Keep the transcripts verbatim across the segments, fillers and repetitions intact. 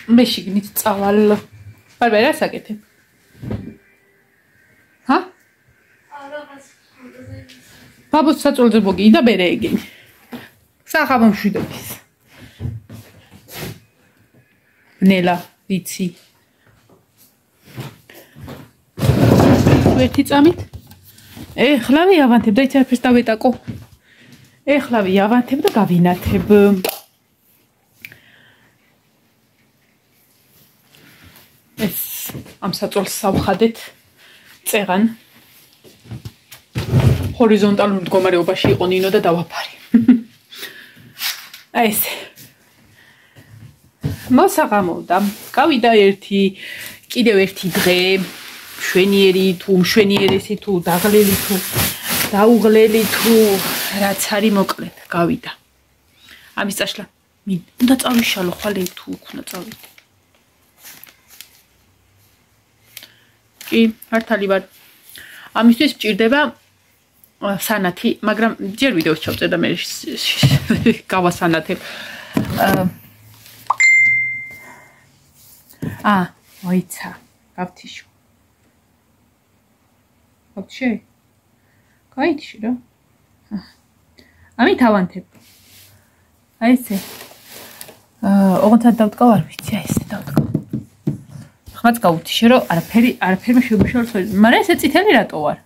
მე შიგნით წავალ. ბარბარა რა საკეთებ? ჰა? ბაბუს საწოლზე მოგიი და მერე ეგენი. სახაბო მშვიდობის. ნელა, ვიცი. ერთი წამით? ეხლა ვიავანთებ და იცი არაფერს დავეტაკო. ეხლა ვიავანთებ და გავინათებ. ეს ამ საწოლს სავხადეთ წეღან. ჰორიზონტალურ მდგომარეობაში იყო ნინო და დავაფარე. აი ეს. მოსაღამოვდა. გავიდა ერთი კიდევ ერთი დღე. შვენიერი თუ მშვენიერესი თუ დაღლელი თუ დაუღლელი თუ რაც არის მოკლედ გავიდა. ამის წაშლა მინდა წავიშალო ხვალე თუ უნდა წავიდე. კი, მართალი ვარ. ამისთვის მჭირდება სანათი, მაგრამ ჯერ ვიდეოს ჩავწერ და მე გავასანათებ. აა, მოიცა, გავთიშო. Вообще. Кайдში რა. ამით ავანთებ. აი ესე. აა, ოღონდ დავტყავ არ ვიცი, აი ესე დავტყავ. ხმაც გავუთიშე რომ არაფერი, არაფერმა შეგვიშალოს, მაგრამ ესე წითელი რატო ვარ?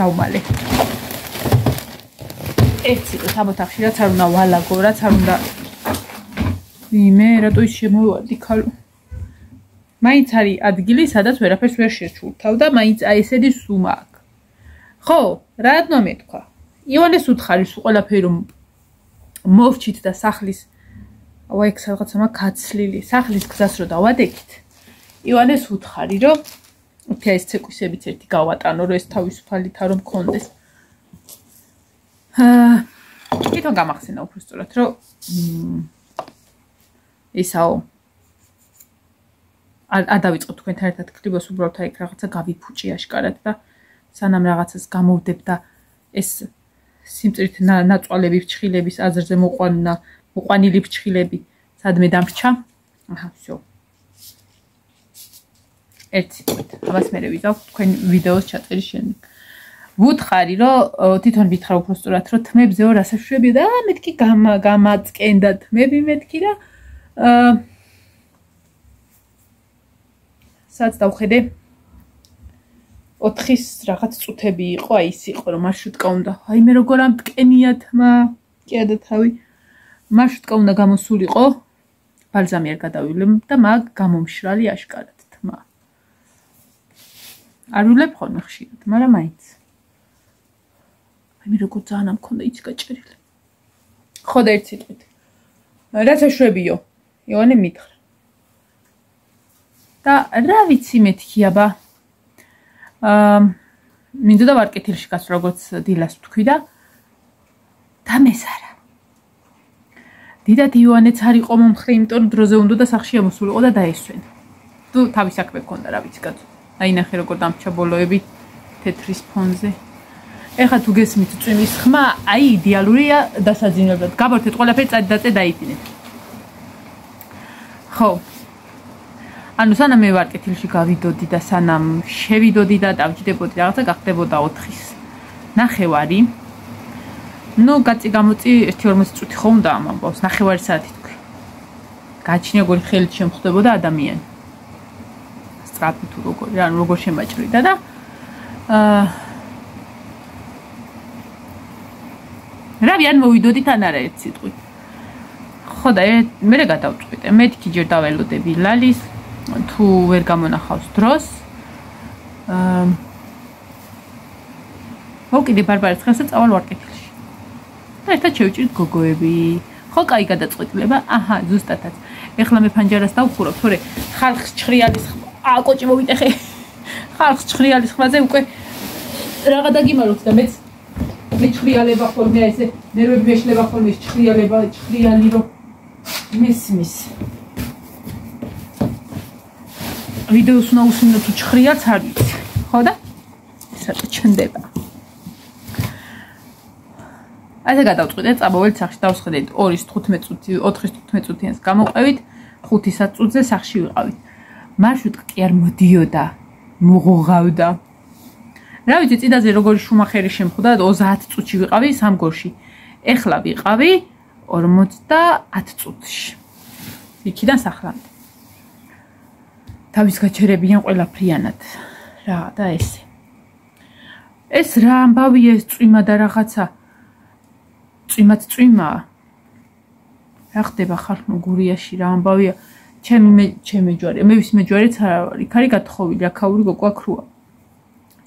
დავმალე. ერთი თამოთახში რაც არ უნდა ვალაგო, რაც არ უნდა იმე რატო ის შემოვადი ხალო. მაინც არის ადგილი, სადაც ვერაფერს ვერ შეჩურთავ და მაინც აი ესეთი სუმა აქვს. ხო, რატო მეთქვა? ივანეს უთხარი სულ ყველაფერი რომ მოვჩით და სახლის აუ ეგ რაღაცა მაგ გაცლილი, სახლის გზას რო დავადექით. ივანეს უთხარი რომ უთი ეს ცეკვისებიც ერთი გავატანო, რომ ეს თავისუფალითა რომ მქონდეს. აა თვითონ გამახსენა უფრო სწორად, რომ ისაო არ დავიწყო თქვენთან ერთად ქრიბოს უბრალოდ აი რაღაცა გავიფუჭი აშკარად და სანამ რაღაცას გამოვდებ და ეს სიმწირით ნაწვალები ფრჩხილების აზრზე მოყვანა მოყვანილი ფრჩხილები სადმე დამრჩა აჰა всё ერთი ამას მე ვიზავ თქვენ ვიდეოს ჩაწერის შემდეგ ვუთხარი რომ თვითონ ვითხრა უფრო სწორად რომ თმებზეო რასაშვები და მეთქი გამაწკენდა თმები მეთქი და აა სადაც დავხედე ოთხის რაღაც წუთები იყო, აი ის იყო რომ მარშრუტკა უნდა. აი მე როგორ ამტკენია თმა, კედა თავი. მარშრუტკა უნდა გამოსულიყო. ბალზამი არ გადავივლებ და მაგ გამომშრალი აშკარად თმა. არ ვილებ ხოლმე ხშირად, მაგრამ მაინც. აი მე როგორ ძალიან ამ მქონდა იცი გაჭერილი. ხო და ერთ სიტყვით. რაც აშვებიო. ივანე მითხრა. და რა ვიცი მეთქი აბა აა მინდოდა ვარკეთილში გასვლა როგორც დილას ვთქვი და დამესარა. დიდად ივანეც არ იყო მომხრე, იმიტომ რომ დროზე უნდა და სახში ამოსულიყო და დაესვენა. თუ თავის საქმე ჰქონდა რა ვიცი კაცო. დაინახე როგორ დამრჩა ბოლოები თეთრის ფონზე. ეხლა თუ გესმით წვიმის ხმა, აი იდეალურია დასაძინებლად. გაბართეთ ყველაფერი წადიდაწე დაიდინეთ. ხო. ანუ სანამ მე ვარკეთილში გავიდოდი და სანამ შევიდოდი და დავჯდებოდი რაღაცა გახდებოდა ოთხის ნახევარი. ნუ გაწი გამოწი ერთი ორმოცი წუთი ხო უნდა ამ ამბავს, ნახევარი საათი თქვი. გაჩნია როგორი ხელით შემხვდებოდა ადამიანი. სწრაფი თუ როგორი, ანუ როგორ შემაჭრიდა და აა რავი არ მოვიდოდით ან არა ერთ სიტყვით. ხო და მე რა გადავწყვიტე, მეთქი ჯერ დაველოდები ლალის თუ ვერ გამონახავს დროს აა მოკიდე ბარბარეს დღესაც წავალ ვარკეთილში და ერთად შევჭირთ გოგოები ხო კაი გადაწყვეტილება აჰა ზუსტადაც ეხლა მე ფანჯარას დავხურობ თორე ხალხს ჭხრიალის აკოჭი მოვიტეხე ხალხს ჭხრიალის ხმაზე უკვე რაღა დაგიმაროთ და მეც მე ჭხრიალება ხოლმე ესე ნერვები მეშლება ხოლმე ჭხრიალება ჭხრიალი რომ მესმის ვიდეოს უნდა უსმინო თუ ჭხრიალს არ ვიცი ხო და ესა ჩნდება ასე გადავწყვიტეთ, წამოვიდეთ სახში, დავსხედეთ ორი თხუთმეტ წუთი, ოთხი თხუთმეტ წუთიანს გამოვყევით, ხუთი საწუთზე სახში ვიყავით. მარშრუტკა კი არ მოდიოდა, მოღოღავდა. რა ვიცი, წინაზე როგორი შუმახერი შემხვდა, ოცდაათ წუთში ვიყავი სამგორში. ეხლა ვიყავი ორმოცდაათ წუთში. იქიდან სახლამდე. თავის გაჩერებიან ყველაფრიანად. რა და ესე. ეს რა ამბავია, ეს წვიმა და რაღაცა. წვიმაც წვიმაა. რა ხდება ხალხო გურიაში, რა ამბავია. ჩემი მე ჩემი ჯვარი, მე ვის მეჯვარეც არ ვარ. იქ არის გათხოვილი, აქაური გოგვა ქრუა.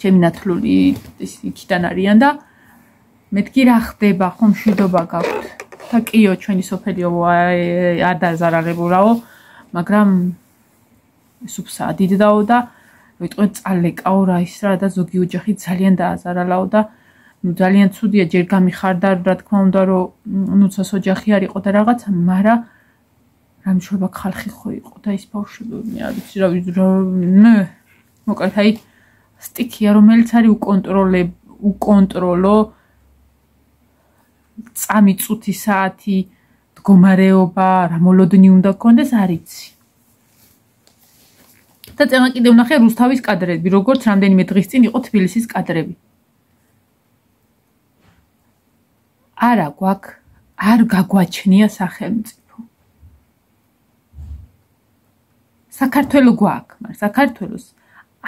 ჩემი ნათლული იქიდან არიან და მეთქი რა ხდება, ხომ მშვიდობა გაქვთ. და კიო, ჩვენი სოფელიო არ დაზარალებულაო, მაგრამ სუფსა დიდდაო და ვიტყვი წალეკაო რა ის რა და ზოგი ოჯახი ძალიან დააზარალაო და ნუ ძალიან ცუდია, ჯერ გამიხარდა, რა თქმა უნდა, რომ ნუცას ოჯახი არ იყო და რაღაცა, მაგრამ რა მშვება ხალხი ხო იყო და ის ბავშვები არ ვიცი რა ნე მოკლედ აი სტიქია რომელიც არის უკონტროლე უკონტროლო წამი წუთი საათი მდგომარეობა რა მოლოდინი უნდა გქონდეს არ იცი და წემა კიდე ვნახე რუსთავის კადრები როგორც რამდენიმე დღის წინ იყო თბილისის კადრები არა გვაქვს არ გაგვაჩნია სახელმწიფო საქართველო გვაქვს მაგრამ საქართველოს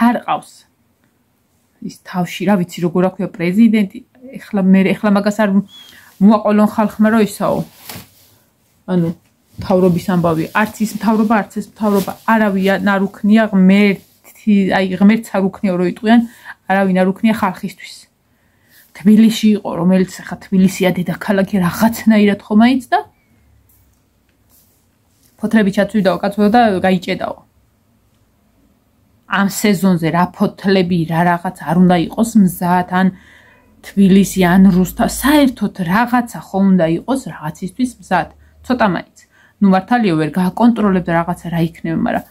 არ ყავს ის თავში რა ვიცი როგორ აქვია პრეზიდენტი ეხლა მე ეხლა მაგას არ მოაყოლონ ხალხმა რო ისაო ანუ თავრობის ამბავი არც ის თავრობა არც ეს თავრობა არავინ არ უქნია ღმერთი აი ღმერთს არ უქნია რო იტყვიან არავინ არ უქნია ხალხისთვის თბილისში იყო რომელიც ხა თბილისია დედაქალაქი რაღაცნაირად ხომ აიცდა ფოთლები ჩაწვიდაო კაცო და გაიჭედაო ამ სეზონზე რა ფოთლები რა რაღაც არ უნდა იყოს მზად ან თბილისი ან რუსთა საერთოდ რაღაცა ხომ უნდა იყოს რაღაცისთვის მზად ცოტა მაინც ნუ მართალია ვერ გააკონტროლებდა რაღაცა რა იქნება მაგრამ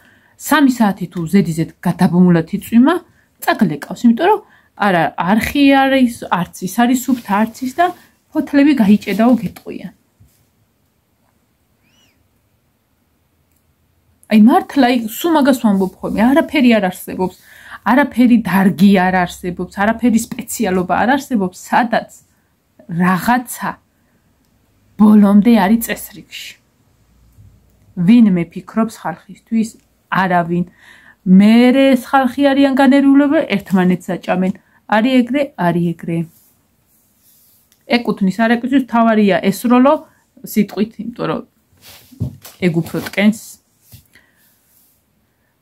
სამი საათი თუ ზედიზედ გადაბმულად იწვიმა წაგლეკავს იმიტომ რომ არა არხი არის არც ის არის სუფთა არც ის და ფოთლები გაიჭედაო გეტყვიან აი მართლა სულ მაგას ვამბობ ხოლმე არაფერი არ არსებობს არაფერი დარგი არ არსებობს არაფერი სპეციალობა არ არსებობს სადაც რაღაცა ბოლომდე არის წესრიგში ვინმე ფიქრობს ხალხისთვის არავინ მერე ხალხი არიან განერულებულები ერთმანეთს აჭამენ არის ეგრე არის ეგრე ეკუთვნის არ ეკუთვნის თავარია ესროლო სიტყვით იმიტომ რომ ეგ უფრო ტკენს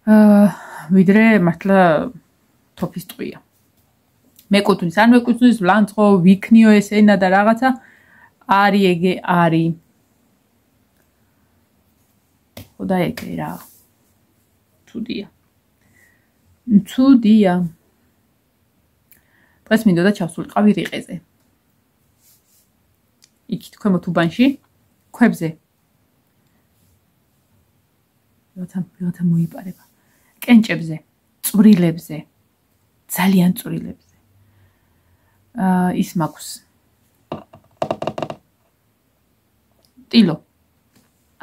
აა ვიდრე მართლა თოფის ტყვია მეკუთვნის არ მეკუთვნის ვლანძღო ვიქნიო ეს ენა და რაღაცა არის ეგე არის ხოდა ეგე რა ცუდია ცუდია დღეს მინდოდა ჩავსულიყავი რიყეზე იქით ქვემოთ უბანში ქვებზე რათა რათა მოიპარება კენჭებზე წვრილებზე ძალიან წვრილებზე აა ის მაქვს ტილო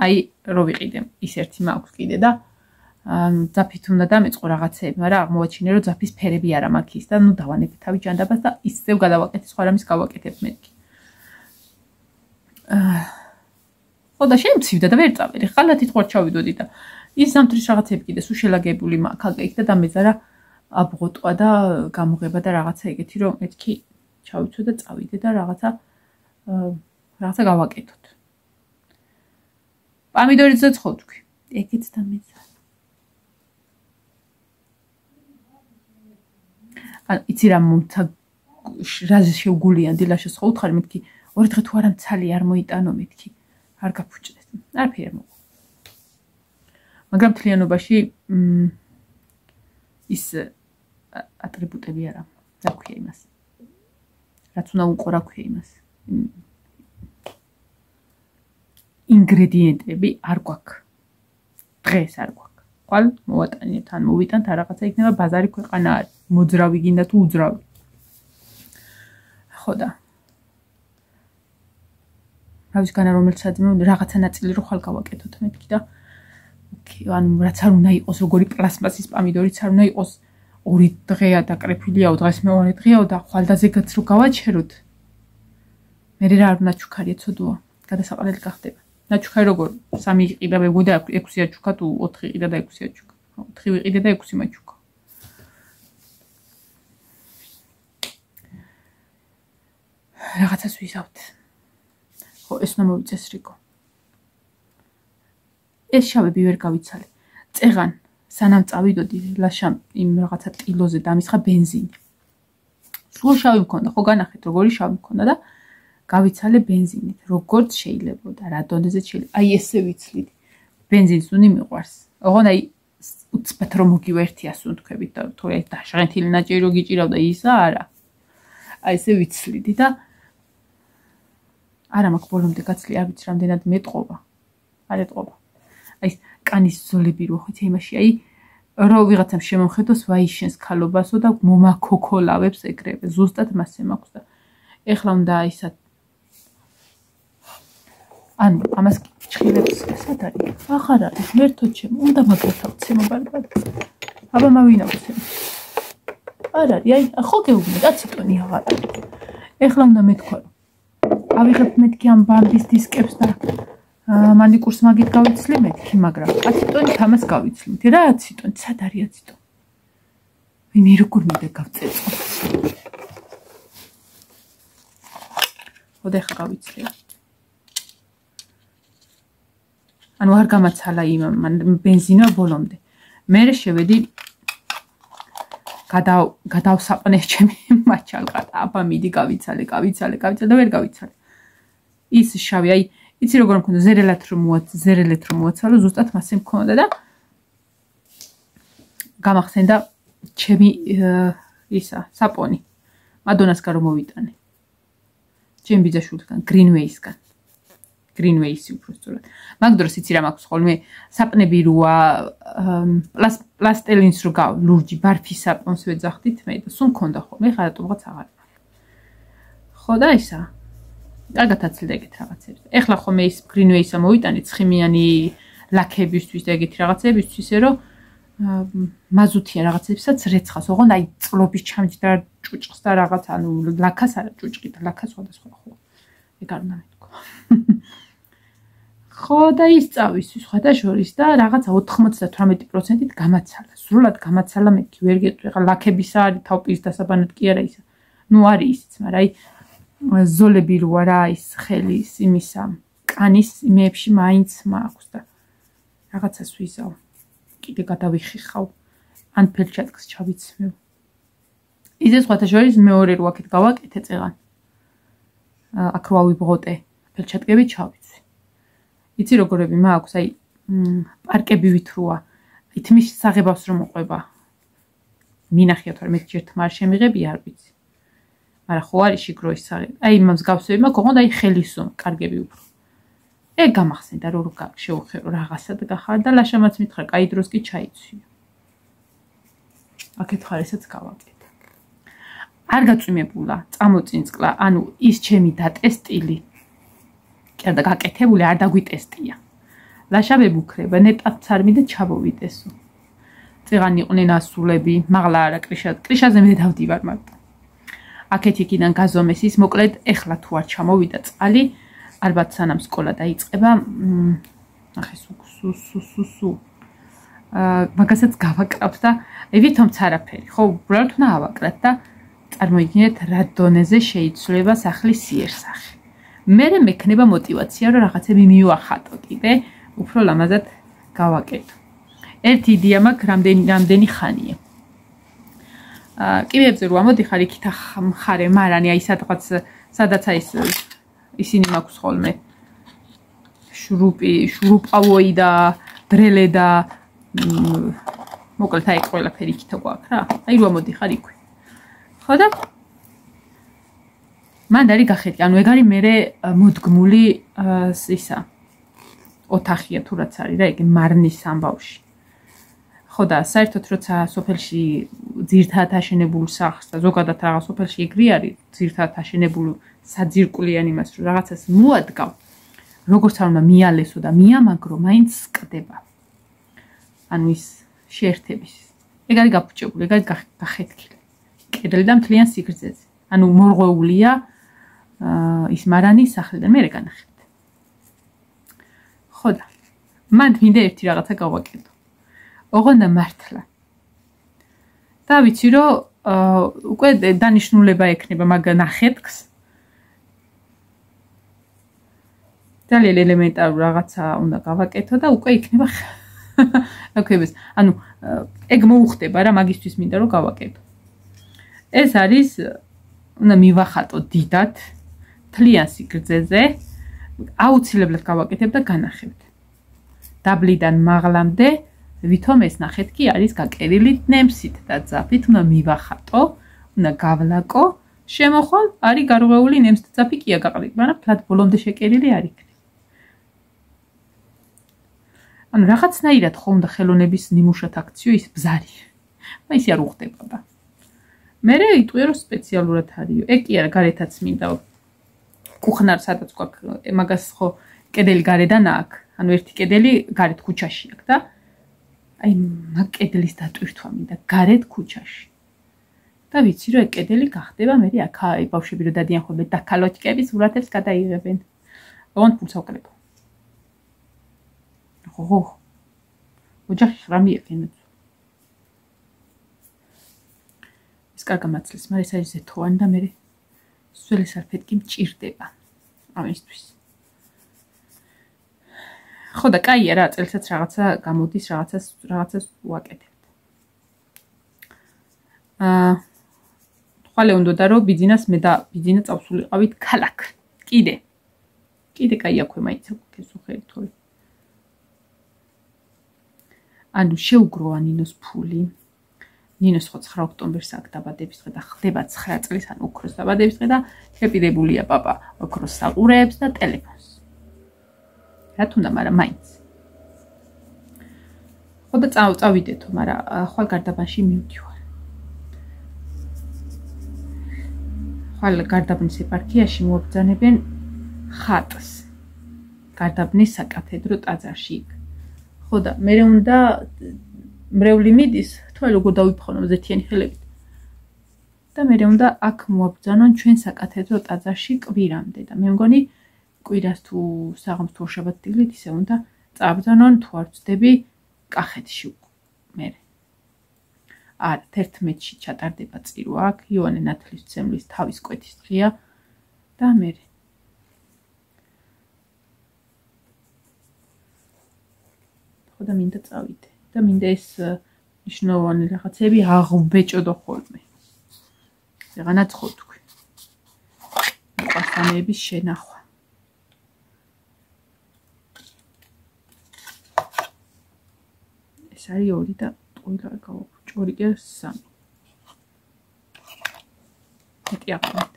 აი რო ვიყიდე ის ერთი მაქვს კიდე და ძაფით უნდა დამეწყო რაღაცეები მაგრამ აღმოაჩინე რომ ძაფის ფერები არა მაქვს ის და ნუ დავანებ თავი ჯანდაბას და ისევ გადავაკეთე სხვა რამის გავაკეთებ მეთქი აა ხოდა შემცივდა და ვერ წავედი ხალათით ყوار ჩავიდოდი და ის ზამთრის რაღაცები კიდე სულ შელაგებული მაქვს აქ და დამეძარა აბღოტყვა და გამოღება და რაღაცა ეგეთი რომ მეთქი ჩავიცო და წავიდე და რაღაცა რაღაცა გავაკეთოთ პამიდორიც და ცხოთქვი ეგეც დამეძარა ან იცი რა მომცა რაზე შევგულიან დილაშეს ხო უთხარი მეთქი ორი დღე თუ არა მცალი არ მოიტანო მეთქი არ გაფუჭდეს არაფერი არ მოყვა მაგრამ თლიანობაში ის ატრიბუტები არა რა ქვია იმას რაც უნდა უყო რა ქვია იმას ინგრედიენტები არ გვაქვს დღეს არ გვაქვს ყვალ მოვატანებთ ან მოვიტანთ რაღაცა იქნება ბაზარი ქვეყანა არის მოძრავი გინდა თუ უძრავი ხო და თავისგან რომელიც საძმო რაღაცა ნაწილი რო ხალ გავაკეთოთ მეთქი და ოკეი ანუ რაც არ უნდა იყოს როგორი პლასმასის პამიდორიც არ უნდა იყოს ორი დღეა დაკრეფილიაო დღეს მეორე დღეაო და ხვალდაზეგაც რო გავაჩეროთ მე რა არ უნდა ჩუქარია ცოდოა გადასაყრელი გახდება ნაჩუქარი როგორ სამი იყიდა მეგოდა ექვსია ჩუქა თუ ოთხი იყიდა და ექვსია ჩუქა ოთხი ვიყიდა და ექვსი მაჩუქა რაღაცას ვიზავთ ხო ეს უნდა მოვიწესრიგო ეს შავები ვერ გავიცალე წეღან სანამ წავიდოდი ლაშამ იმ რაღაცა ტილოზე დამისხა ბენზინი სულ შავი მქონდა ხო განახეთ როგორი შავი მქონდა და გავიცალე ბენზინით როგორც შეიძლებოდა რა დონეზე შეიძლება აი ესე ვიცლიდი ბენზინს უნდა მიყვარს ოღონ აი უცბად რომ მოგივერთია სუნთქვებით და თუ აი დაშღენთილი ნაჭირო გიჭირავდა ისა არა აი ესე ვიცლიდი და არა მაქვს ბოლომდე გაცლი არ ვიცი რამდენად მეტყობა არ ეტყობა აი კანის ზოლები რო ხით იმაში აი რო ვიღაცამ შემომხედოს ვაიშენს ქალობასო და მომაქოქოლავებს ეგრევე ზუსტად მასე მაქვს და ეხლა უნდა ისა ანუ ამას ჭხილებს სად არის ახარ არის მერთო ჩემ უნდა მაგათავცე მობალბად აბა მავინავცე არ არის აი ხო გეუბნე და ციტონი აღარ ეხლა უნდა მეთქვა ავიღებ მეთქი ამ ბამბის დისკებს და მანიკურს მაგით გავიცლი მეთქი მაგრამ აციტონით ამას გავიცლით რა აციტონი სად არის აციტონი ვინი როგორ მინდა გავწეწო ხოდა ხა გავიცლი ანუ არ გამაცალა იმ ბენზინა ბოლომდე მე შევედი გადა გადავსაყნე ჩემი მაჩალყა აბა მიდი გავიცალე გავიცალე გავიცალე და ვერ გავიცალე ის შავი აი იცი როგორ მქონდა ზერელად რომ მოაც ზერელეთ რომ მოაცალო ზუსტად მასე მქონდა და გამახსენდა ჩემი ისა საპონი მადონასგან რომ მოვიტანე ჩემი ბიძაშვილთან გრინვეისგან გრინვეისი უბრალოდ მაგ დროს იცი რა მაქვს ხოლმე საპნები როა პლასტელინს რო გავ ლურჯი ბარფის საპონს ვეძახდით მე და სულ მქონდა ხოლმე ხა რატომღაც აღარ ხო და ისა კარგად აცილდა ეგეთ რაღაცებს ეხლა ხოლმე ის გრინვეისა მოვიტანე ცხიმიანი ლაქებისთვის და ეგეთი რაღაცებისთვის რომ მაზუთიან რაღაცებსაც რეცხას ოღონ აი წლობის ჩამჯდა ჭუჭყს და რაღაც ანუ ლაქას არა ჭუჭყი და ლაქა სხვადასხვა ხო ეგ არ უნდა მეთქვა ხო და ის წავისვის სხვა შორის და რაღაცა ოთხმოცდათვრამეტი პროცენტით გამაცალა სრულად გამაცალა მეთქი ვერ გეტყვი ხა ლაქებისა არის თავპირის დასაბანად კი არა ისა ნუ არის ისიც მაგრამ აი ზოლები რო არა ის ხელის იმისა კანის იმეებში მაინც მაქვს და რაღაცას ვიზავ კიდე გადავიხიხავ ან ფელჩატკს ჩავიცმევ ისე სხვათა შორის მეორე რო აქეთ გავაკეთე წეღან აქ რო ავიბღოტე ფელჩატკები ჩავიცვი იცი როგორები მაქვს აი პარკები ვითროა ითმის საღებავს რომ მოყვება მინახიათ რომ მე ჯერ თმა არ შემიღები არ ვიცი მაგრამ ხო არის შიგრო ის საღები აი იმას გავსვევი მაქვს ოღონდ აი ხელისო კარგები უფრო ეგ გამახსენდა რომ რო შევხერო რაღაცა და გახარ და ლაშამაც მითხრა კაი დროს კი ჩაიცვიო აქეთ ხარისაც გავაკეთე არ გაწვიმებულა წამოწინწყლა ანუ ის ჩემი დატესტილი კი და გაკეთებული არ დაგვიტესტია ლაშავები უქრება ნეტაც არ მინდა ჩავოვიდესო წეღან იყვნენ ასულები მაღლა არა კრიშა კრიშაზე მე დავდივარ მარტო აქეთ იქიდან გაზომეს ის მოკლედ ეხლა თუ არ ჩამოვიდა წყალი ალბათ სანამ სკოლა დაიწყება ახე სუ სუ სუ სუ მაგასაც გავაკრავთ და ვითომც არაფერი ხო უბრალოდ უნდა ავაკრათ და წარმოიდგინეთ რა დონეზე შეიცვლება სახლის სიერსახე მე მექნება мотиваცია რომ რაღაცები მივახატო კიდე უფრო ლამაზად გავაკეთო ერთი იდეა მაქვს რამდენი რამდენი ხანია კიბეებზე რო ამოდიხარ იქით მხარე მარანი აი სადღაც სადაც აი ისინი მაქვს ხოლმე შრუპი შრუპავოი და დრელე და მოკლედ აი ყველაფერი იქით გვაქვს რა აი რო ამოდიხარ იქვე ხო და მან დარი გახედი ანუ ეგ არის მე მოდგმული ისა ოთახია თუ რაც არის რა ეგ მარნის ამბავში ხო და საერთოდ როცა სოფელში ძირთად აშენებულ სახლს და ზოგადად რაღაც სოფელში ეგრე არის ძირთად აშენებულ საძირკვლიან იმას რომ რაღაცას მოადგავ როგორც არ უნდა მიალესო და მიამაგრო, მაინც სკდება. ანუ ის შეერთების. ეგ არის გაფუჭებული, ეგ არის გახეთქილი. კედელი და მთლიან სიგრძეზე. ანუ მორღვეულია ის მარანის სახლიდან მე განახებთ. ხო და მან მინდა ერთი რაღაცა გავაკეთო. ოღონდ მართლა. და ვიცი რომ უკვე დანიშნულება ექნება მაგ ნახეთქს. ძალიან ელემენტარული რაღაცა უნდა გავაკეთო და უკვე იქნება აკეთებს. ანუ ეგ მოუხდება რა მაგისთვის მინდა რომ გავაკეთო. ეს არის უნდა მივახატო დიდად თლიან სიგრძეზე აუცილებლად გავაკეთებ და განახებთ. დაბლიდან მაღლამდე ვითომ ეს ნახეთქი არის გაკერილი ნემსით და ძაფით უნდა მივახატო, უნდა გავლაკო, შემოხვალ არის გარღვეული ნემსით ძაფი კი აგაყრით, მაგრამ თლად ბოლომდე შეკერილი არ იქნება. ანუ რაღაცნაირად ხო უნდა ხელოვნების ნიმუშად აქციო ის ბზარი. მაგრამ ისე არ უხდებოდა. მე იტყვია რომ სპეციალურად არისო. ეგ კი არა გარეთაც მინდა კუხნარ სადაც გვაქვს მაგას ხო კედელი გარედან აქვს. ანუ ერთი კედელი გარეთ ქუჩაში აქვს და აი მაგ კედლის დატვირთვა მინდა გარეთ ქუჩაში. და ვიცი რომ ეგ კედელი გახდება მე აქ აი ბავშვები რომ დადიან ხოლმე დაკალოჩკების სურათებს გადაიღებენ. ოღონდ ფულს ავკლებო. ხო. ოჯახი ხრამი ეყენებს. ეს კარგა მაცლის, მაგრამ ეს არის ზეთოვანი და მე სველი სარფეტკი მჭირდება ამისთვის. ხო და კაია რა, წელსაც რაღაცა გამოდის, რაღაცას რაღაცას ვაკეთებთ. აა ხვალე უნდა რომ ბიძინას მე და ბიძინა წავსულიყავით ქალაქ. კიდე. კიდე კაი აქვე მაინც გესუხერით თორე. ანუ შეუგროა ნინოს ფული. ნინოს ხო ცხრა ოქტომბერს აქვს დაბადების დღე და ხდება ცხრა წლის ან ოქროს დაბადების დღე და შეპირებულია პაპა ოქროს საყურეებს და ტელეფონს. რა თუნდა, მაგრამ მაინც. ხო და წავიდეთო, მაგრამ ხვალ გარდაბანში მივდივარ. ხვალ გარდაბნის ეპარქიაში მოაბრძანებენ ხატს. გარდაბნის საკათედრო ტაძარში. ხო და მე უნდა მრევლი მიდის, თვალ როგორ დავიფხონო ზეთიანი ხელებით. და მე უნდა აქ მოაბრძანონ ჩვენ საკათედრო ტაძარში კვირამდე და მე მგონი კვირას თუ საღამოს თუ შაბათ-დილით ისე უნდა წაბრძანონ თუ არ ვწდები კახეთში მე. არა, თერთმეტში ჩატარდება წირვა აქ, იოანე ნათლისმცემლის თავის კვეთის დღეა და მე. ხო და მინდა წავიდე და მინდა ეს მნიშვნელოვანი რაღაცები აღვბეჭოდო ხოლმე. რაღაცა ხო თქვი. პასტანების შენახვა. ეს არის ორი და ტყუილი არ გავაქვს. ორი კი სამი. მეტი აყენეთ.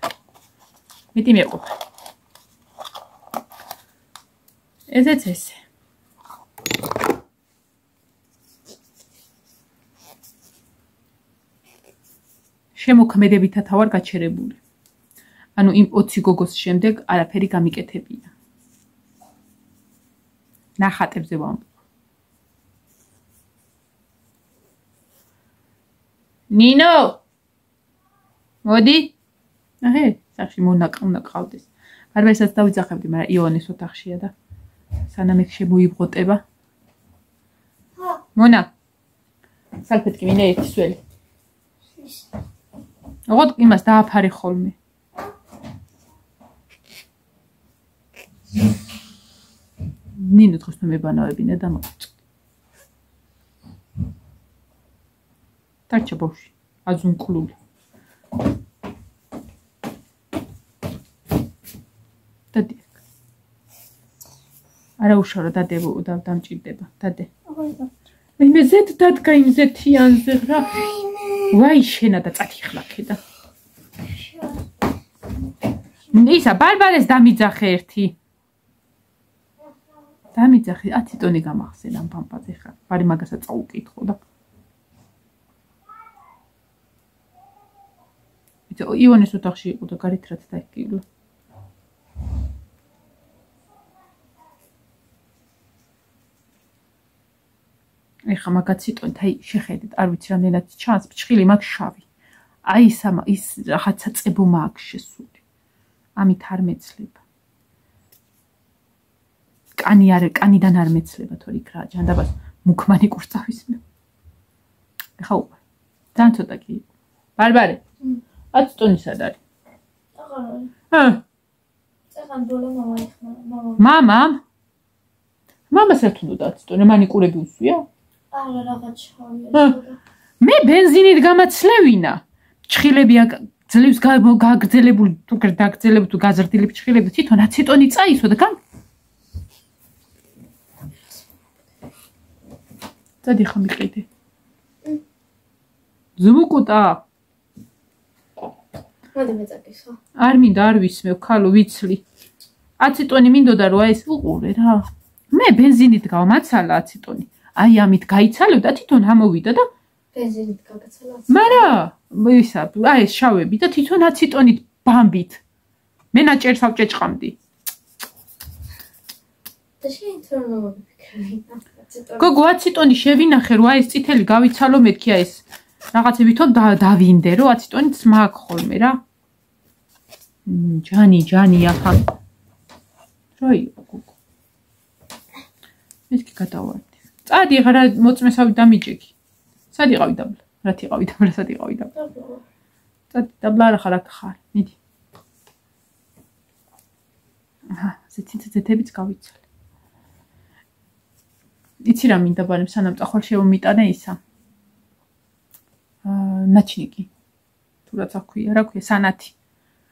მეტი მეყვა. ესეც ესე. შემოქმედებითად ვარ გაჩერებული. ანუ იმ ოცი გოგოს შემდეგ არაფერი გამიკეთებია. ნახატებზე ვამბობ. ნინო! მოდი. აჰე, სახში მონაყავნა ყავდეს. გარბაისაც დავიძახებდი, მაგრამ იონეს ოთახშია და სანამ ეგ შემოიბღოტება. მონა. სალფეტკი მინდა ერთი სველი. ოღონდ იმას დააფარე ხოლმე. ნინო დღეს მე მებანავებინა და მოწ. დარჩა ბავშვი, აზუნკლული. დადი. არა უშავრო დადებო და დამჭირდება. დადე. მე მე ზეთ დადგა იმ ზეთიანზე რა. ვაი შენა და წათიხლაკე და. ისა ბარბარეს დამიძახე ერთი. დამიძახე, ათი ტონი გამახსენა პამპაზე ხარ. ბარი მაგასაც წაუკითხო და. იცი იონეს ოთახში იყო და გარეთ რაც დაიკივლო. ეხა მაგაც იტონით, აი შეხედეთ, არ ვიცი რამდენად ჩანს, ფჩხილი მაგ შავი. აი ის ამ ის რაღაცა წებო მაქვს შესული. ამით არ მეცლება. კანი არ კანიდან არ მეცლება თორე იქ რა ჯანდაბას მუქმანი კურწავისმე. ეხა უყურე. ძალიან ცოტა კი. ბარბარე. ათი ტონი სად არის? აღარ არის. ჰა. წეგან დოლა მამა ეხმა, მამა. მამამ? მამას რა თუნდა ათი ტონი მანიკურები უსვია? არა რაღაც შავია. მე ბენზინით გამაცლევინა. ჩხილები ძლივს გაგრძელებული თუ გაგრძელებული თუ გაზრდილი ჩხილები თვითონ ათი ტონი წაისვა და გან დადი ხომ იყიდე. ზმუკუტა. მოდი მეწაკისო. არ მინდა არ ვისმევ ქალო ვიცლი. ათი ტონი მინდოდა რომ აი ეს უყურე რა. მე ბენზინით გავმაცალა ათი ტონი. აი ამით გაიცალევდა თვითონ ამოვიდა და ბენზინით გაგაცალა. მარა ისა აი ეს შავები და თვითონ ათი ტონით ბამბით. მე ნაჭერს ავჭეჭყამდი. და შენ თორემ მოვიფიქრე. გოგო ათი ტონი შევინახე რომ აი ეს წითელი გავიცალო მეთქი აი ეს რაღაცებითო დავინდე რომ ათი ტონიც მაგ ხოლმე რა. ჯანი ჯანი ახლა. რა იყო გოგო? მეთქი გადავარდი. წადი ახლა რა მოწმესავი დამიჭიქი. სად იყავი დაბლა? რა თიყავი დაბლა, სად იყავი დაბლა? წადი დაბლა არა ხარ აქ ხარ. მიდი. აჰა, ზეთით-ზეთებიც გავიცალე. იცი რა მინდა ბარემ სანამ წახვალ შევმიტანე ისა. აა ნაჩნიკი. თუ რაც აქვია, რა ქვია, სანათი.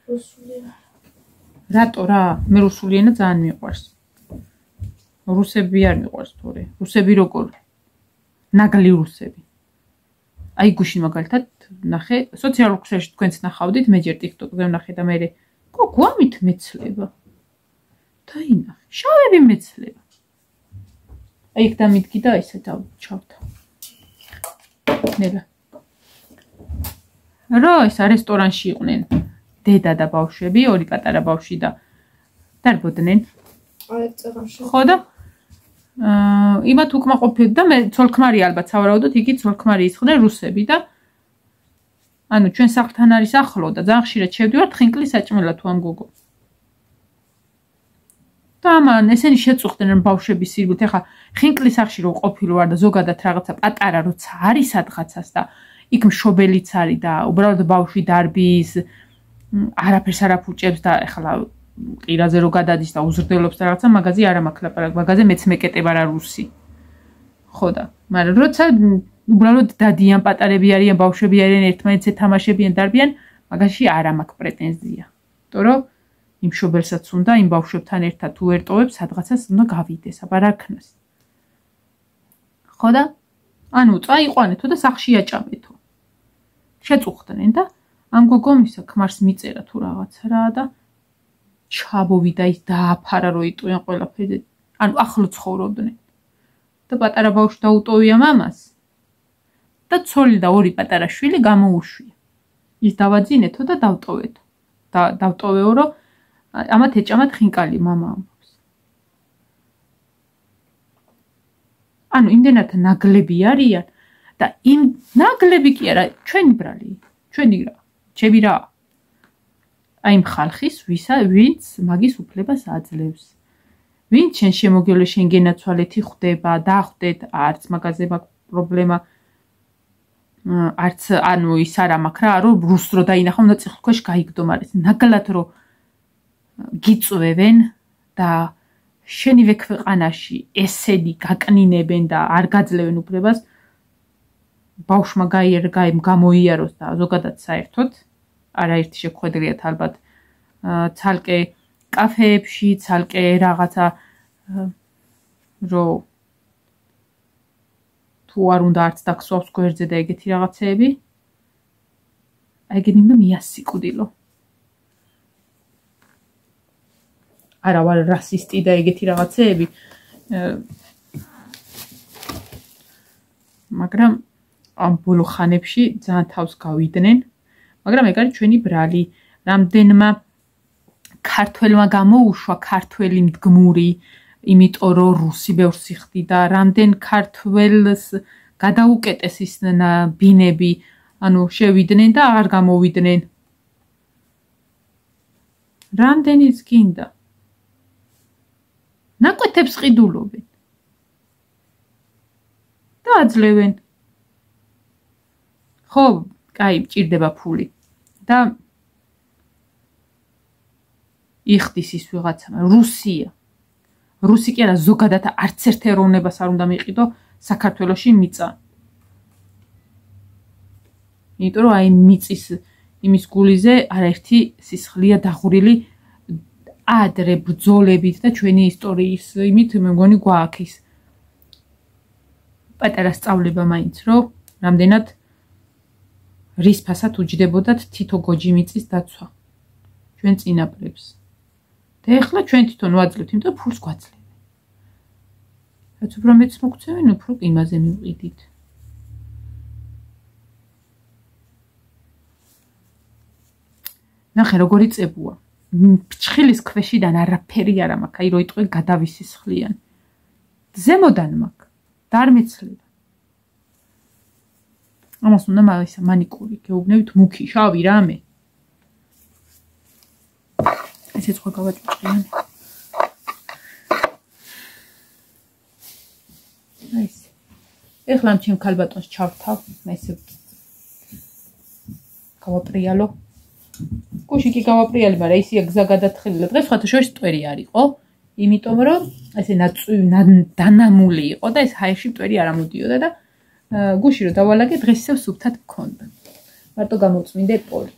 რუსული. რატო რა? მე რუსული ენა ძალიან მიყვარს. რუსები არ მიყვარს თორე. რუსები როგორ? ნაგლი რუსები. აი გუშინ მაგალითად ნახე, სოციალურ ქსელში თქვენც ნახავდით, მე ჯერ TikTok-ზე ვნახე და მე გოგო ამით მეცლება. დაინახე, შავები მეცლება. აი იქ დამიდგი და ისე დავჩავდა. ნელა. რა ისა რესტორანში იყვნენ დედა და ბავშვები, ორი პატარა ბავშვი და დარბოდნენ. აი წეგანში. ხო და აა იმათ უკმაყოფილდა და მე ცოლქმარი ალბათ სავარაუდოდ იგი ცოლქმარი ისხდნენ რუსები და ანუ ჩვენ სახლთან არის ახლო და ძალიან ხშირად შევდივართ ხინკლის საჭმელად თუ ამ გოგო. და ამან ესენი შეწუხდნენ ბავშვების სირბილით. ეხა ხინკლის სახლში რო ყოფილი ვარ და ზოგადად რაღაცა პატარა როცა არის სადღაცას და იქ მშობელიც არის და უბრალოდ ბავშვი დარბის არაფერს არ აფუჭებს და ეხლა ყირაზე რო გადადის და უზრდელობს და რაღაცა მაგაზე არ ამაქვს ლაპარაკი. მაგაზე მეც მეკეტება რა რუსი. ხო და მაგრამ როცა უბრალოდ დადიან პატარები არიან ბავშვები არიან ერთმანეთს ეთამაშებიან დარბიან მაგაში არ ამაქვს პრეტენზია. იმიტომ რომ იმ მშობელსაც უნდა იმ ბავშვებთან ერთად თუ ერთოვებს სადღაცას უნდა გავიდეს აბა რა ქნას. ხო და ანუ წაიყვანეთო და სახში აჭამეთო. შეწუხდნენ და ამ გოგომ ისა ქმარს მიწერა თუ რაღაცა რა და ჩაბოვიდა ის დააფარა რომ იტყვიან ყველაფერი. ანუ ახლო ცხოვრობდნენ. და პატარა ბავშვი დაუტოვია მამას. და ცოლი და ორი პატარა შვილი გამოუშვია. ის დავაძინეთო და დავტოვეთო. და დავტოვეო რომ ამათ ეჭამათ ხინკალი მამა ამბობს. ანუ იმდენად ნაგლები არიან და იმ ნაგლები კი არა ჩვენი ბრალი, ჩვენი რა, ჩემი რა. აი იმ ხალხის ვისა ვინც მაგის უფლებას აძლევს. ვინც შენ შემოგევლე შენ გენაცვალეთი ხვდება, დახვდეთ, არც მაგაზე მაგ პრობლემა არც ანუ ის არ ამაქვს რა, რომ რუს რო დაინახო, უნდა წიხლქვეშ გაიგდო, მაგრამ ნაგლად რო გიწვევენ და შენივე ქვეყანაში ესენი გაკნინებენ და არ გაძლევენ უფლებას, ბავშვმა გაიერგა იმ გამოიაროს და ზოგადად საერთოდ არაერთი შეხვედრიათ ალბათ ცალკე კაფეებში, ცალკე რაღაცა რო თუ არ უნდა არც დაგსვავს გვერდზე და ეგეთი რაღაცეები. აი ეგენი უნდა მიასიკვდილო. არა ვარ რასისტი და ეგეთი რაღაცეები. მაგრამ ამ ბოლო ხანებში ძალიან თავს გავიდნენ. მაგრამ ეგ არის ჩვენი ბრალი. რამდენმა ქართველმა გამოუშვა ქართველი მდგმური, იმიტომ რომ რუსი ბევრს იხდიდა, რამდენ ქართველს გადაუკეტეს ის ბინები, ანუ შევიდნენ და აღარ გამოვიდნენ. რამდენიც გინდა. ნაკვეთებს ყიდულობენ. და აძლევენ. ხო, კაი, მჭირდება ფული. და იხდის ის ვიღაცა, რუსია. რუსი კი არა, ზოგადად არც ერთ ეროვნებას არ უნდა მიყიდო საქართველოში მიწა. იმიტომ რომ აი მიწის იმის გულიზე არაერთი სისხლია დაღურილი ადრე ბრძოლებით და ჩვენი ისტორიის იმით მე მგონი გვაქვს პატარა სწავლება მაინც რომ რამდენად რის ფასად უჯდებოდათ თითო გოჯი მიწის დაცვა ჩვენ წინაპრებს და ეხლა ჩვენ თვითონ ვაძლევთ იმიტომ რომ ფულს გვაძლევენ რაც უფრო მეც მოგწევენ უფრო იმაზე მივყიდით ნახე როგორი წებუა ფჩხილის ქვეშიდან არაფერი არ მაქვს აი რო იტყვი გადავისისხლიან ზემოდან მაქვს და არ მეცლება ამას უნდა მაგისა მანიკური გეუბნებით მუქი შავი რამე ესეც ხო გავაჭუჭყიანი აი ეს ეხლა ამ ჩემ ქალბატონს ჩავთავ ესე გავაპრიალო გუში კი გავაპრიალი, მაგრამ ისია გზა გადათხილი დღეს სხვათა შორის მტვერი არ იყო, იმიტომ რომ ესე ნაწუი დანამული იყო და ეს ჰაერში მტვერი არ ამოდიოდა და გუში რომ დავალაგე დღეს ისევ სუფთად მქონდა. მარტო გამოწმინდე პოლი.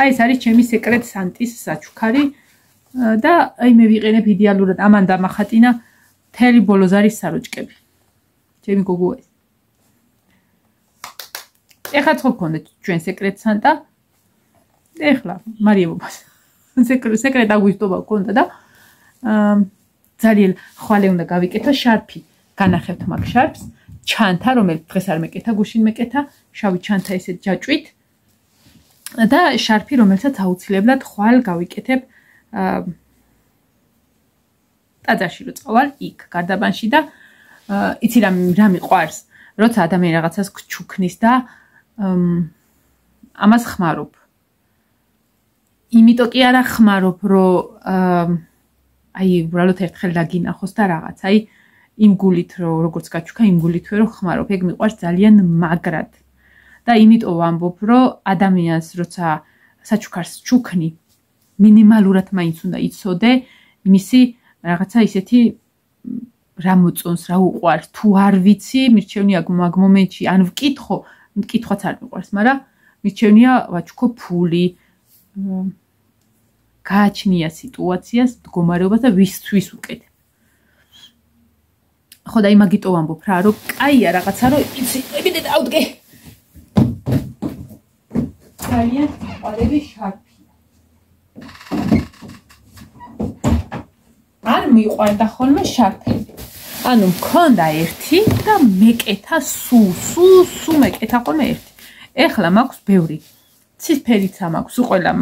აი ეს არის ჩემი სეკრეტ სანტის საჩუქარი და აი მე ვიყენებ იდეალურად ამან დამახატინა მთელი ბოლოს არის საროჭკები. ჩემი გოგო ეს. ეხლა ხო გქონდა ჩვენ სეკრეტ სანტა ეხლა მარიებობას სეკრეტ აგვისტობა გქონდა და ძალიან ხვალე უნდა გავიკეთო შარფი განახევთ მაგ შარფს ჩანთა რომელიც დღეს არ მეკეთა გუშინ მეკეთა შავი ჩანთა ესეთ ჯაჭვით და შარფი რომელსაც აუცილებლად ხვალ გავიკეთებ ტაძარში რო წავალ იქ გარდაბანში და იცი რა რა მიყვარს როცა ადამიანი რაღაცას გჩუქნის და ამას ხმარობ იმიტომ კი არა ხმარობ რომ აი უბრალოდ ერთხელ დაგინახოს და რაღაც აი იმ გულით რომ როგორც გაჩუქა იმ გულითვე რომ ხმარობ ეგ მიყვარს ძალიან მაგრად და იმიტომ ვამბობ რომ ადამიანს როცა საჩუქარს ჩუქნი მინიმალურად მაინც უნდა იცოდე მისი რაღაცა ისეთი რა მოწონს რა უყვარს თუ არ ვიცი მირჩევნია მაგ მომენტში ან ვკითხო მკითხვაც არ მიყვარს მაგრამ მირჩევნია ვაჩუქო ფული გააჩნია სიტუაციას, მდგომარეობას და ვისთვის უკეთებ. ხო და იმაგიტო ვამბობ რა, რომ კაია რაღაცა, რომ იცი, ებიდე დავდგე. ძალიან qalები შარფია. არ მიყვარდა ხოლმე შარფები. ანუ მქონდა ერთი და მეკეთა სუ, სუ, სუ მეკეთა ხოლმე ერთი. ეხლა მაქვს ბევრი. ცისფერიც მაქვს, უყველა,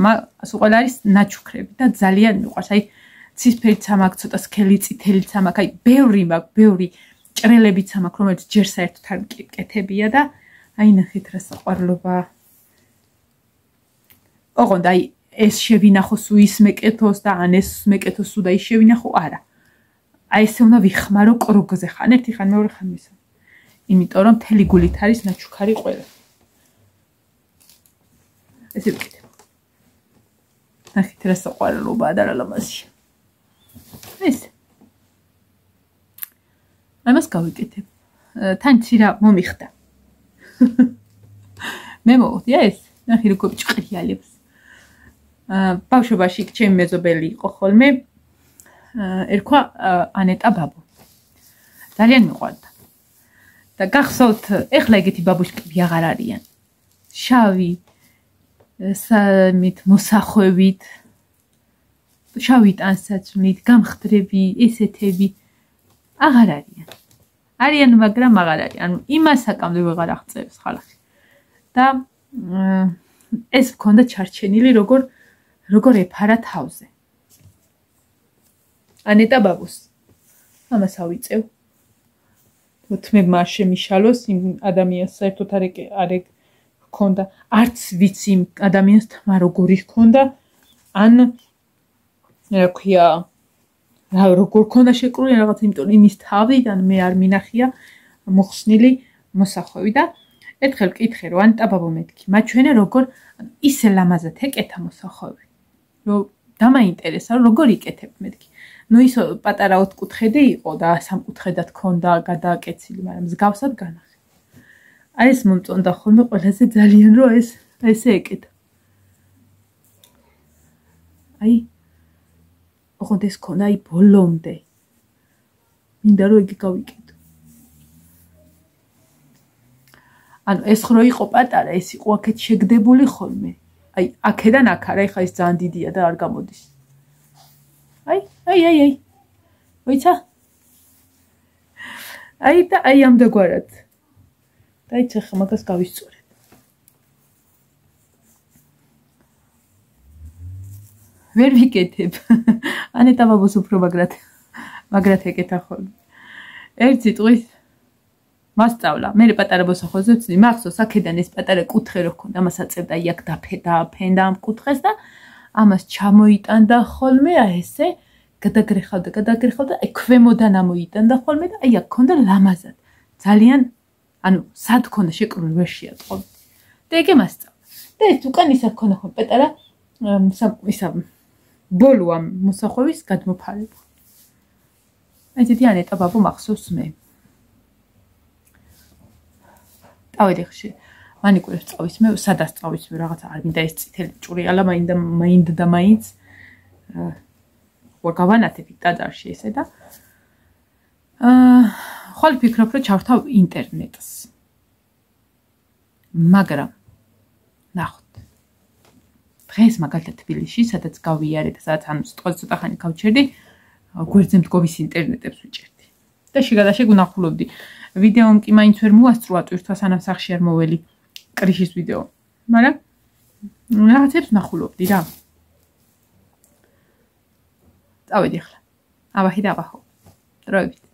უყველა არის ნაჩუქრები და ძალიან მიყვარს. აი ცისფერიც მაქვს, ცოტა სქელი წითელიც მაქვს, აი ბევრი მაქვს, ბევრი ჭრელებიც მაქვს, რომელიც ჯერ საერთოდ არ მკეთებია და აი ნახეთ რა საყვარლობა. ოღონდ აი ეს შევინახოს უ ის მეკეთოს და ან ეს მეკეთოს უ და ის შევინახო, არა. აი ესე უნდა ვიხმარო კროგზე ხან ერთი ხან მეორე ხან მესამე. იმიტომ რომ მთელი გულით არის ნაჩუქარი ყველა. ესე ვკეთებ. ნახეთ რა საყვარლობაა და რა ლამაზია. ეს. ამას გავიკეთებ. თან ცირა მომიხდა. მე მოვხდია ეს. ნახე როგორ ჭყრიალებს. აა ბავშვობაში ჩემი მეზობელი იყო ხოლმე. ერქვა ანეტა ბაბო. ძალიან მიყვარდა. და გახსოვთ, ეხლა ეგეთი ბაბუშკები აღარ არიან. შავი სამით მოსახვევით შავი ტანსაცმლით გამხდრები ესეთები აღარ არიან არიან მაგრამ აღარ არიან ანუ იმას საკამდე ვეღარ აღწევს ხალხი და ეს მქონდა ჩარჩენილი როგორ როგორ ეფარა თავზე ანეტა ბაბუს ამას ავიწევ თმებმა არ შემიშალოს იმ ადამიანს საერთოდ არ არ ჰქონდა არც ვიცი იმ ადამიანს თმა როგორი ჰქონდა ან რა ქვია რა როგორ ჰქონდა შეკრული რაღაც იმიტომ იმის თავიდან მე არ მინახია მოხსნილი მოსახვევი და ერთხელ მკითხე რომ ანიტა ბაბო მეთქი მაჩვენე როგორ ისე ლამაზად ეკეთა მოსახვევი რომ დამაინტერესა რომ როგორ იკეთებ მეთქი ნუ ის პატარა ოთხკუთხედი იყო და სამკუთხედად ჰქონდა გადააკეცილი მაგრამ მსგავსად განახე აი ეს მომწონდა ხოლმე ყველაზე ძალიან რომ ეს ესე ეკეთა აი ოღონდ ეს ქონდა აი ბოლომდე მინდა რომ იგი გავიკეთო ანუ ეს ხრო იყო პატარა ეს იყო აქეთ შეგდებული ხოლმე აი აქედან აქ არა ეხა ეს ძალიან დიდია და არ გამოდის აი აი აი აი მოიცა აი და აი ამდაგვარად დაიცა ხა მაგას გავისწორებ ვერ ვიკეთებ ანეტა ბაბოს უფრო მაგრად მაგრად ეკეთა ხოლმე ერთ სიტყვით მასწავლა მე პატარა მოსახვეზე ვცდი მახსოვს აქედან ეს პატარა კუთხე რო ქონდა მას აწევდა იაკ დაფედა ფენდა ამ კუთხეს და ამას ჩამოიტანდა ხოლმე აი ესე გადაგრეხავდა გადაგრეხავდა აი ქვემოდან ამოიტანდა ხოლმე და აი აქ ქონდა ლამაზად ძალიან ანუ სად ქონდა შეკრული ვერ შეატყო და ეგე მასწავლა და ეს უკან ისა ქონდა ხოლმე პატარა ისა ბოლო ამ მოსახვევის გადმოფარება აი ზედიან ანეტა ბაბო მახსოვს მე ავედი ხში მანიკურებს წავის მე სადაც წავის მე რაღაცა არ მინდა ეს წითელი ჭურიალა მაინდა მაინდა და მაინც ხო გავანათებ ტაძარში ესე და აა ხოლმე ფიქრობ რომ ჩავთავ ინტერნეტს მაგრამ ნახოთ დღეს მაგალითად თბილისში სადაც გავიარე და სადაც ანუ ცოტა ხანი გავჩერდი გვერდზე მდგომის ინტერნეტებს ვიჭერდი და შეგადაშე გუნახულობდი ვიდეომ კი მაინც ვერ მოასწრო ატვირთვა სანამ სახში არ მოველი კრიშის ვიდეო მაგრამ რაღაცებს ნახულობდი რა წავედი ახლა აბა ჰიდა აბა ხო დროებით